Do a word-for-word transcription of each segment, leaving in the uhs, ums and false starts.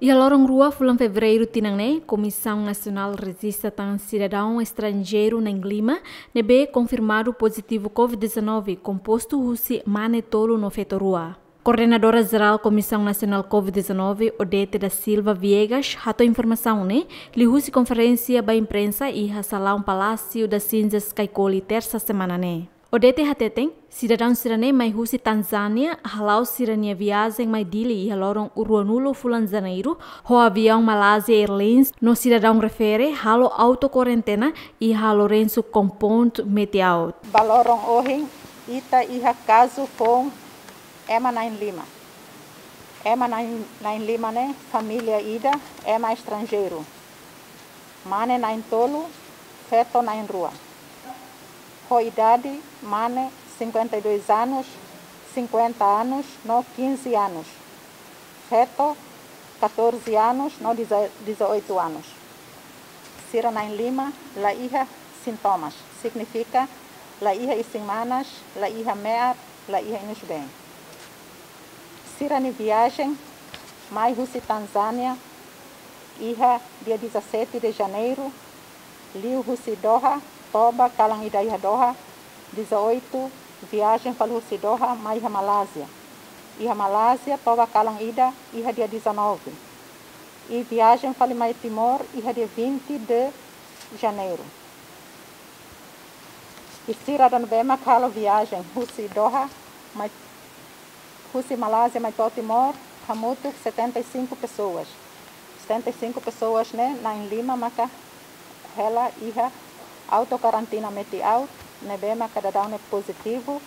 Iha loron rua fulan Fevereiru tinan ne'e, Komisaun Nasionál rejista tan sidadaun estranjeiru na'in lima ne'ebé konfirmadu pozitivu COVID-19, kompostu husi mane tolu no feto rua. Koordenadora Jerál Komisaun Nasionál COVID-19, Odete da Silva Viegas, hato'o informasaun ne'e liuhusi konferénsia ba imprensa iha Salaun Palásiu das Cinzas, Caicoli, Tersa semana ne'e. Odete hateten, sidadaun sira-ne'e mai husi Tanzánia hala'o sira-nia viajen mai Dili iha loron ruanulu fulan Janeiru ho aviaun Malaysia Airlines no sidadaun refere halo auto kuarentena iha Lourenço Compound Metiaut. Ba loron ohin, ita iha kazu foun ema na'in lima. Ema na'in, na'in lima ne'e família ida, ema estranjeiru. Mane na'in tolu, feto na'in rua. Ho idade, mane cinquenta e dois anos, cinquenta anos no quinze anos. Feto, catorze anos no deza-, dezoito anos. Sira na'in lima la iha sintomas, signifika la iha isin-manas, la iha me'ar, la iha inus-been. Sira-nia viajen mai husi Tanzánia iha dia dezassete de Janeiro, liu husi Doha, toba kalan ida iha Doha, dezoito, viajen fali husi Doha mai iha Malázia. Iha Malázia, toba kalan ida iha dia dezanove. I viajen fali mai Timor iha dia vinte de Janeiro. I sira ne'ebé mak halo viajen husi Doha mai, husi Malázia mai to'o Timor, hamutuk setenta e cinco pessoas. Setenta e cinco pessoas ne'e, na'in lima maka hela iha auto karantina Metiaut, ne'ebé maka daudaun ne'e pozitivu,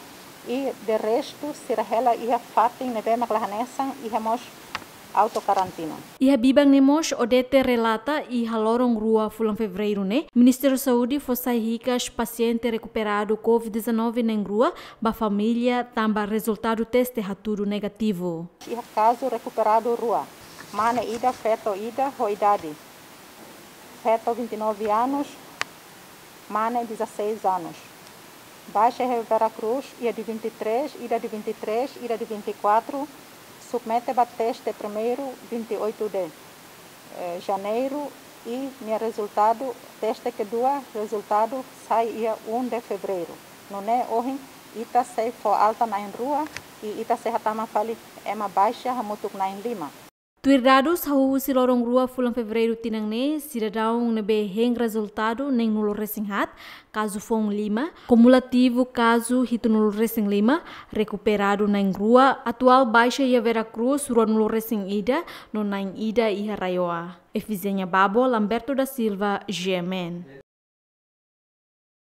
i de restu sira hela iha fatin ne'ebé mak la hanesan, iha mós auto karantina. Iha biban ne'e mós Odete relata, iha loron rua fulan Fevereiru ne'e, Ministériu Saúde fó sai hikas pasiente rekuperadu COVID-19 na'in rua ba família tanba rezultadu teste hatudu negativu. Iha kazu rekuperadu rua, mane ida, feto ida, ho idade. Feto vinte e nove anos, mane dezasseis anos. Baixa iha Vera Cruz, ida de vinte e três, ida de vinte e três, ida de vinte e quatro, submete ba teste primeiru vinte e oito de, eh, Janeiru, i nia rezultadu, teste kedua, rezultadu sai iha um de Fevereiru. Nune'e ohin, ita sei fó alta na'in rua, i ita sei hatama fali ema baixa hamutuk na'in lima. Tuir dadus hahú husi loron rua fulan Fevereiru tinan ne'e, sidadaun ne'ebé hein rezultadu neenulu-resin-haat, kazu foun lima, kumulativu kazu hitunulu-resin-lima, rekuperadu na'in rua, atuál baixa iha Vera Cruz ruanulu-resin-ida, no na'in ida iha RAEOA. Efizénia Babo, Lamberto da Silva, G M N.